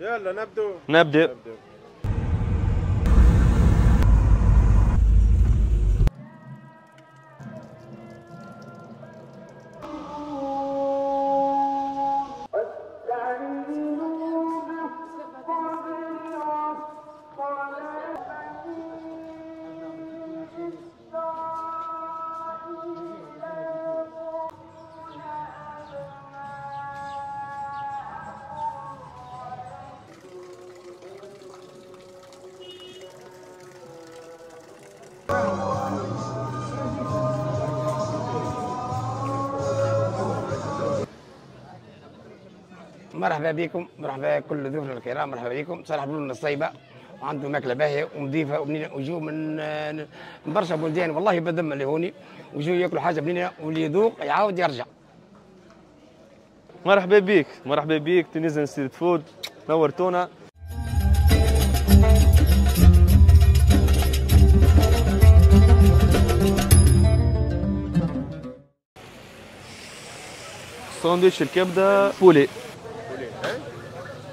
يلا نبدو. نبدا. مرحبا بكم، مرحبا كل ضيوفنا الكرام، مرحبا بكم. صالح بلول الصيبه وعنده ماكله باهيه ونظيفه وبنينه، وجو من برشا بلدان والله بدم اللي هوني، وجو ياكلوا حاجة بنينه واللي يذوق يعاود يرجع. مرحبا بك، مرحبا بك Tunisian Street Food، نورتونا. ساندويتش الكبده poulet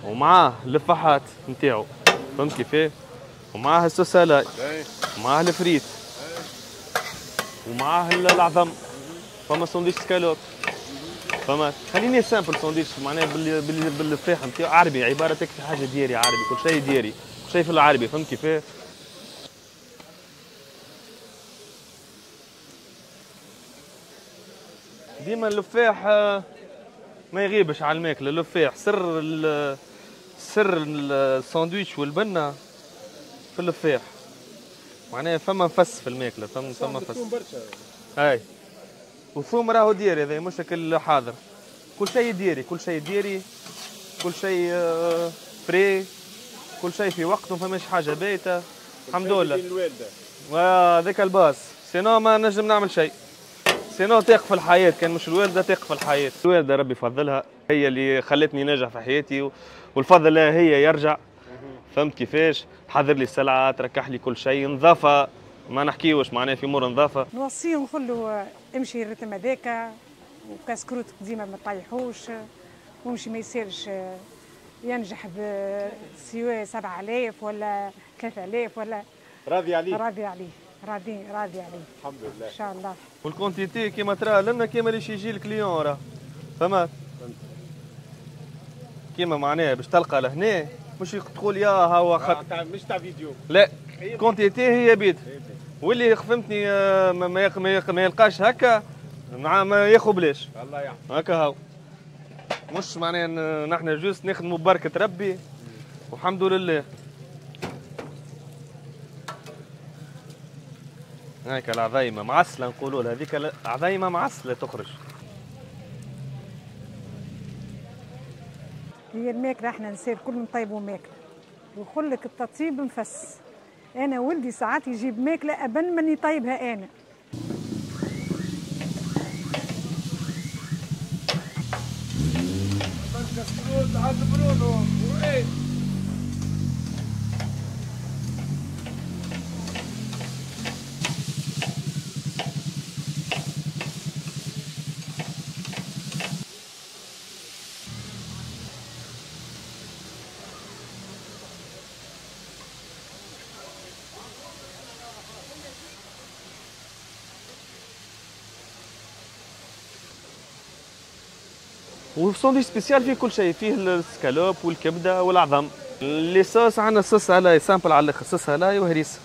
ومعاه اللفاحات نتاعو، فهمت كيفاه؟ ومعاه ال sauce à l'ail، ومعاه الفريت، ومعاه العظم. فما sandwich escalope، فما خليني simple sandwich معناها بالفاح نتاعو عربي، عبارة تكفي حاجة دياري عربي، كل شيء دياري، كل شيء في العربي، فهمت كيفاه؟ ديما اللفاح ما يغيبش على الماكلة، اللفاح سر سر الساندويتش والبنه في اللفاح، معناها فما نفس في الماكلة، فما نفس. اي وثوم راهو دياري، هذا مش كل حاضر، كل شيء دياري، كل شيء دياري، كل شيء frais، كل شيء في وقته، ما فماش حاجة بايته، الحمد لله. هذاك ال base، sinon ما نجم نعمل شيء، sinon تقف الحياة، كان مش الوالدة تقف الحياة. الوالدة ربي يفضلها، هي اللي خلتني ناجح في حياتي، والفضل لها هي يرجع. فهمت كيفاش؟ تحضر لي السلعة، تركح لي كل شيء، نظافة ما نحكيوش معناها في امور نظافة. نوصيه نقول له امشي ال rythme هذاك، وكاسكروت ديما ما تطيحوش، وامشي ما يصيرش ينجح بسوى 7000 ولا 3000 ولا. راضي عليه؟ راضي عليه، راضي راضي عليه الحمد لله ان شاء الله. وال quantité كيما ترى لنا كيما اللي يجي ال client راه، فهمت؟ كيما معناها باش تلقى لهنا مش تقول يا هو خط مش تاع فيديو، لا quantité هي بيد، واللي فهمتني ما يلقاش هكا ما ياخذ بلاش. الله يحفظك. هكا هاو مش معناها نحن juste نخدموا ببركة ربي والحمد لله. هيك العظيمة معسلة نقولوا لها، هذيك العظيمة معسلة تخرج. هي الماكلة احنا نسير كل نطيبوا ماكلة، ويقول لك التطيب نفس. أنا ولدي ساعات يجيب ماكلة أبن من يطيبها أنا. وال sandwich spécial فيه كل شيء، فيه السكالوب والكبده والعظم. les sauces عندنا sauce à l'ail simple على الاخر، sauce à l'ail وهريسه،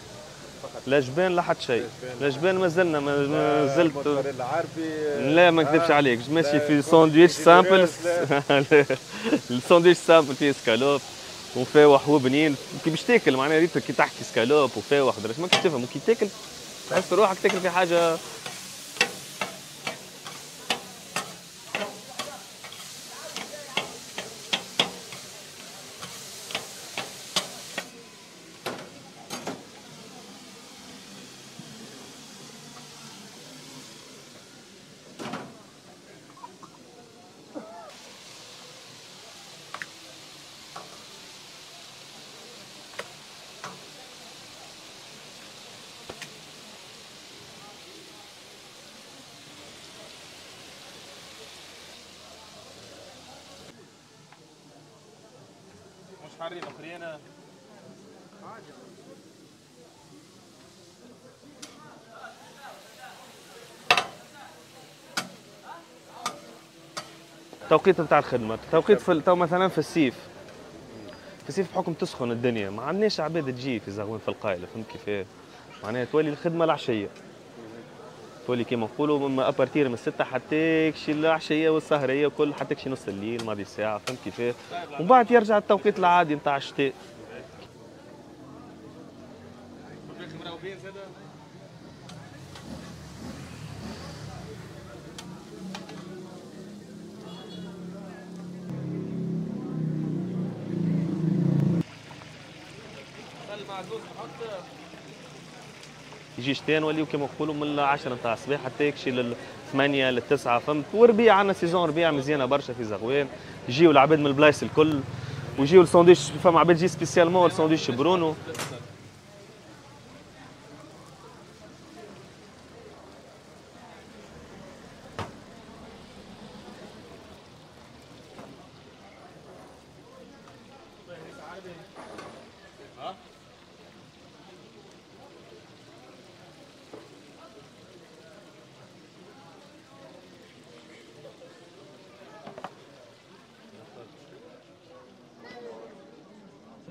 لا جبان لا حتى شيء، لا جبان مازلنا مازلت لا ما نكذبش عليك، ماشي في sandwich simple. ال sandwich simple فيه سكالوب وفاوح وبنين، كي باش تاكل معناها ريت كي تحكي سكالوب وفاوح ما كنتش تفهم، وكي تاكل تحس روحك تاكل في حاجة. حارين اخرين. التوقيت نتاع الخدمة، التوقيت في تو مثلا في الصيف، في الصيف بحكم تسخن الدنيا ما عندناش عباد تجي في زغوان في القايله، فهمت كيفاه؟ معناها تولي الخدمة العشية، تولي كيما نقولوا من à partir من 6 حتى كشي العشية والسهريه وكل، حتى كشي نص الليل ماضي ساعة، فهمت كيفاه؟ ومن بعد يرجع التوقيت العادي نتاع الشتاء. يجي شتاء نوليو كيما نقولوا من 10 نتاع الصباح حتى يكشي لل 8 لل 9، فهمت؟ وربيع عندنا saison ربيع مزيانه برشا في زغوان، يجيو العباد من البلايص الكل ويجيو الساندويتش، فما عباد تجي spécialement الساندويتش برونو.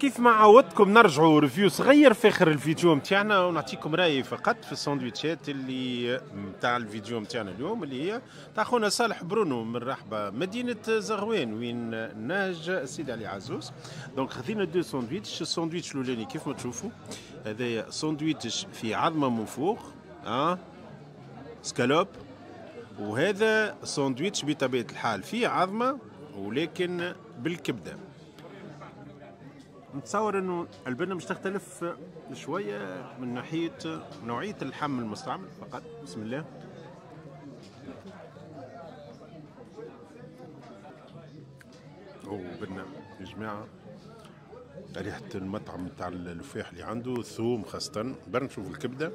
كيف ما عودتكم نرجعوا review صغير في اخر الفيديو نتاعنا ونعطيكم رايي فقط في الساندويتشات اللي نتاع الفيديو نتاعنا اليوم، اللي هي تاع خونا صالح برونو من رحبه مدينة زغوان وين نهج سيدي علي عزوز. donc خذينا deux sandwichs، الساندويتش الاولاني كيف ما تشوفوا هذايا ساندويتش في عظمه من فوق سكالوب، وهذا ساندويتش بطبيعة الحال فيه عظمه ولكن بالكبده. نتصور انه البنه مش تختلف شوية من ناحية نوعية اللحم المستعمل فقط. بسم الله. او بنه يا جماعة، ريحه المطعم تاع الفاح اللي عنده الثوم خاصة. برا نشوف الكبده،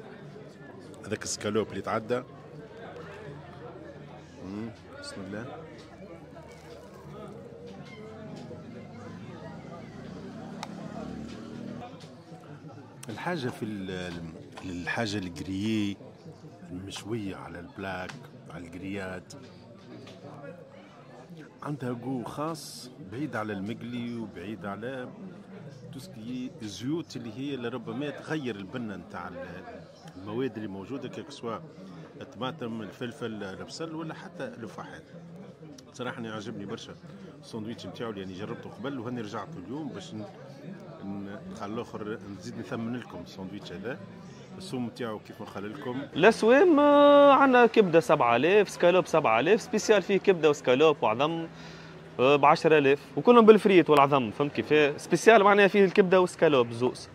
هذاك السكالوب اللي تعدى. بسم الله. الحاجة في الحاجة ال grillée المشوية على ال plaque على ال grillade عندها goût خاص بعيد على المقلي وبعيد على tout ce qui est الزيوت اللي هي لربما تغير البنة نتاع المواد اللي موجودة، que ce soit الطماطم الفلفل البصل ولا حتى الفواحات. صراحة أنا عجبني برشا الساندويتش نتاعو اللي يعني جربته قبل وهاني رجعت اليوم باش نخلي الاخر نزيد نثمن لكم الساندويتش هذا. السوم نتاعو كيف ما خلى لكم الاسوام عندنا كبده 7000، سكالوب 7000، spécial فيه كبده وسكالوب وعظم ب 10000 وكلهم بالفريت والعظم، فهمت كيف؟ spécial معناها فيه الكبده والسكالوب زوز.